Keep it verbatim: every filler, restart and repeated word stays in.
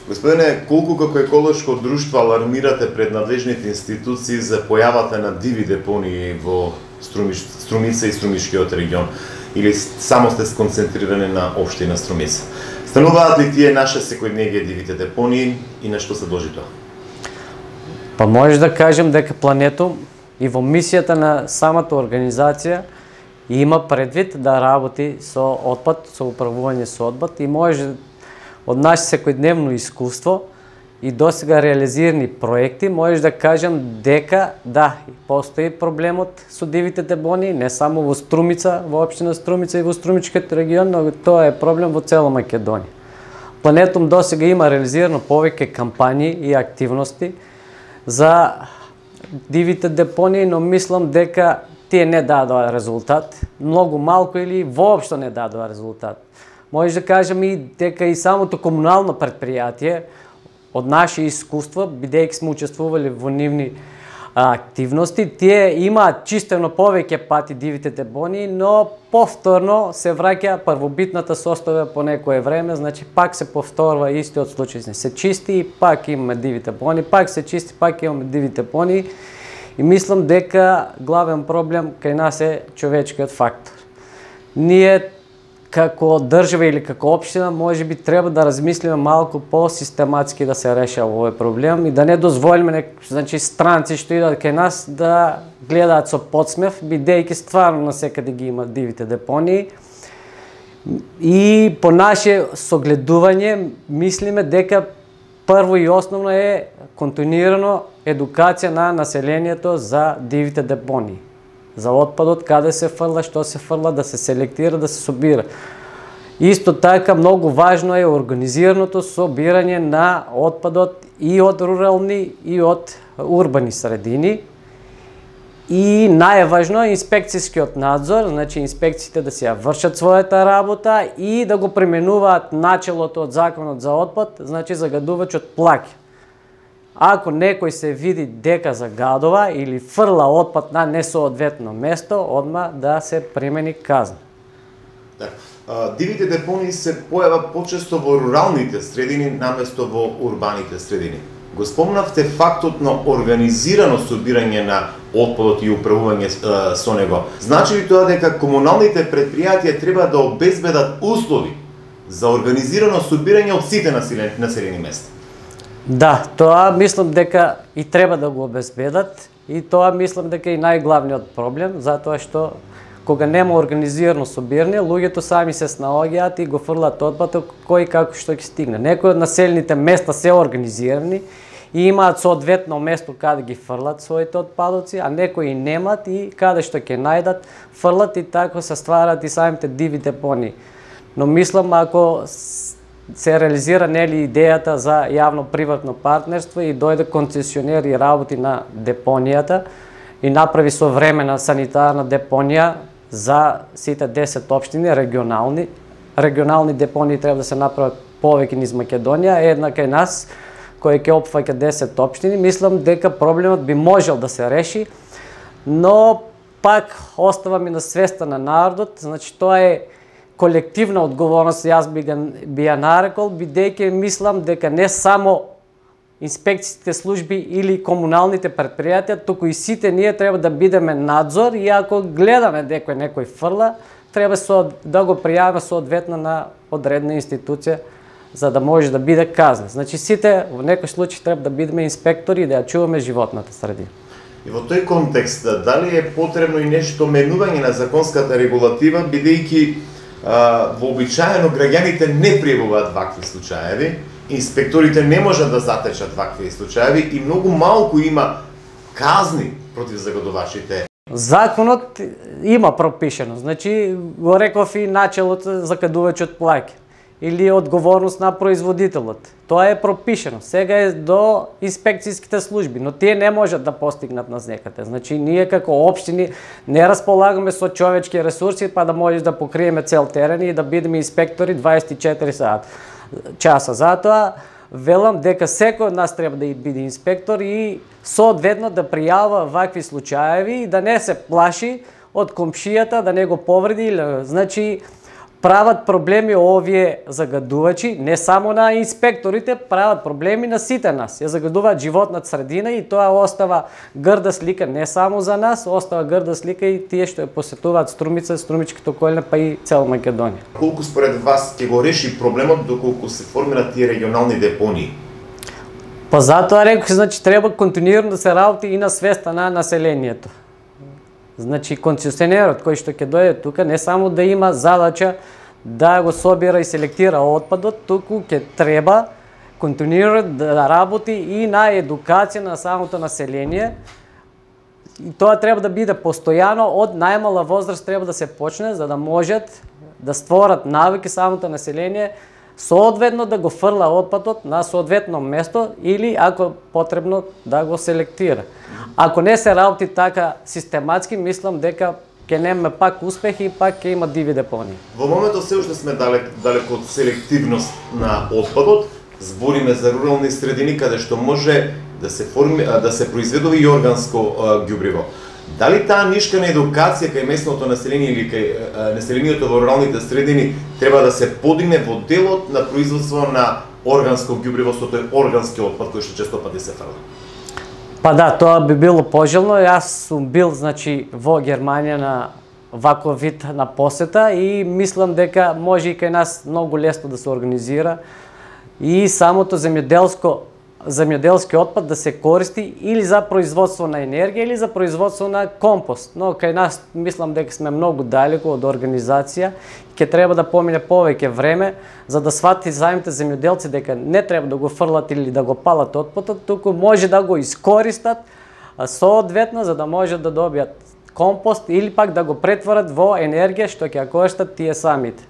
Господине, колку како еколошко друштво алармирате пред надлежните институции за појавата на диви депонии во Струмич, Струмица и Струмишкиот регион? Или само сте сконцентрирани на општина Струмица? Стануваат ли тие наше секојдневие дивите депонии и на што се дължи тоа? Па може да кажем дека Планетум и во мисијата на самата организација има предвид да работи со отпад, со управување со отпад и може од наше секојдневно искуство и досега реализирани проекти, може да кажем дека да, постои проблемот со дивите депонии, не само во Струмица, во општина Струмица и во Струмичкиот регион, но тоа е проблем во цела Македонија. Планетум досега има реализирано повеќе кампањи и активности за дивите депонии, но мислам дека тие не дадоа резултат, многу малку или воопшто не дадоа резултат. Може да кажем и дека и самото комунално предпријатие од наше искуство, бидејќи сме учествували во нивни а, активности, тие имаат чистено повеќе пати дивите депонии, но повторно се враќа првобитната состава по некое време, значи пак се повторува истиот случај. Се чисти и пак имаме диви депонии, пак се чисти, пак имаме диви депонии. И мислам дека главен проблем кај нас е човечкиот фактор. Ние како држава или како општина може би треба да размислиме малку по-систематски да се решава овој проблем и да не дозволиме значи странци што идат кај нас да гледаат со подсмев, бидејќи стварно насекаде ги има дивите депонии. И по наше согледување мислиме дека прво и основно е континуирано едукација на населението за дивите депонии. За отпадот, каде се фрла, што се фрла, да се селектира, да се собира. Исто така, многу важно е организираното собирање на отпадот и од рурални и од урбани средини. И најважно е инспекцијскиот надзор, значи инспекциите да се вршат својата работа и да го применуваат начелото од законот за отпад, значи загадувачот плаќа. Ако некој се види дека загадува или фрла отпад на несоодветно место, одма да се примени казна. Да. Дивите депонии се појават почесто во руралните средини наместо во урбаните средини. Го спомнавте фактот на организирано собирање на отпадот и управување со него. Значи ли тоа дека комуналните предпријатија треба да обезбедат услови за организирано собирање од сите населени места? Да, тоа мислам дека и треба да го обезбедат и тоа мислам дека е најглавниот проблем, затоа што кога нема организирано собирање, луѓето сами се снаоѓаат и го фрлат отпадот кој како што ќе стигне. Некои од населените места се организирани и имаат соодветно место каде ги фрлат своите отпадоци, а некои немат и каде што ќе најдат фрлат и така се стварат и самите диви депонии. Но мислам ако се реализира нели идејата за јавно-приватно партнерство и дојде концесионер и работи на депонијата и направи современа санитарна депонија за сите десет општини регионални. Регионални депонии треба да се направат повеќе низ Македонија, една кај нас кој ќе опфаќа десет општини. Мислам дека проблемот би можел да се реши, но пак остава ми на свеста на народот, значи тоа е колективна одговорност, јас би, би ја нарекол, бидејќи мислам дека не само инспекциите служби или комуналните предпријатија, туку и сите ние треба да бидеме надзор и ако гледаме дека некој фрла, треба со, да го пријавиме соодветно на одредна институција за да може да биде казна. Значи сите во некој случај треба да бидеме инспектори и да ја чуваме животната средина. И во тој контекст, дали е потребно и нешто менување на законската регулатива, бидејќи вообичаено граѓаните не пријавуваат вакви случаеви, инспекторите не можат да затечат вакви случаеви и многу малку има казни против загадувачите. Законот има пропишено, значи го реков и начелот закадувачот плаќа или одговорност на производителот. Тоа е пропишено. Сега е до инспекцијските служби, но тие не можат да постигнат нас некаде. Значи ние како општини не располагаме со човечки ресурси па да можеш да покриеме цел терен и да бидеме инспектори дваесет и четири сати часа. Затоа велам дека секој од нас треба да биде инспектор и соодветно да пријавува вакви случаеви и да не се плаши од комшијата да не го повреди. Значи прават проблеми овие загадувачи, не само на инспекторите, прават проблеми на сите нас. Ја загадуваат животната средина и тоа остава грда слика не само за нас, остава грда слика и тие што ја посетуваат Струмица, Струмичката околина, па и цела Македонија. Колку според вас ќе го реши проблемот доколку се формираат тие регионални депонии? Па затоа рекох, значи треба континуирано да се работи и на свеста на населението. Значи концесионерот кој што ќе дојде тука не само да има задача да го собира и селектира отпадот, туку ќе треба континуирано да работи и на едукација на самото население. И тоа треба да биде постојано, од најмала возраст треба да се почне, за да можат да створат навики самото население соодветно да го фрла отпадот на соодветно место или ако потребно да го селектира. Ако не се работи така систематски, мислам дека ќе немаме пак успех и пак ќе има диви депонии. Во моментот се уште сме далек, далеко од селективност на отпадот. Збориме за рурални средини каде што може да се форми, да се произведува и органско ѓубриво. Дали таа нишка на едукација кај местното население или кај населението во руралните средини треба да се подигне во делот на производство на органско ѓубриво, со тој органски отпад кој што често пати се фрла? Па да, тоа би било пожелно. Јас сум бил, значи, во Германија на ваков вид на посета и мислам дека може и кај нас многу лесно да се организира и самото земјоделско земјоделски отпад да се користи или за производство на енергија или за производство на компост. Но кај нас мислам дека сме многу далеко од организација и ќе треба да помине повеќе време за да свати самите земјоделци дека не треба да го фрлат или да го палат отпадот, туку може да го искористат соодветно за да може да добијат компост или пак да го претворат во енергија што ќе ја користат тие самите.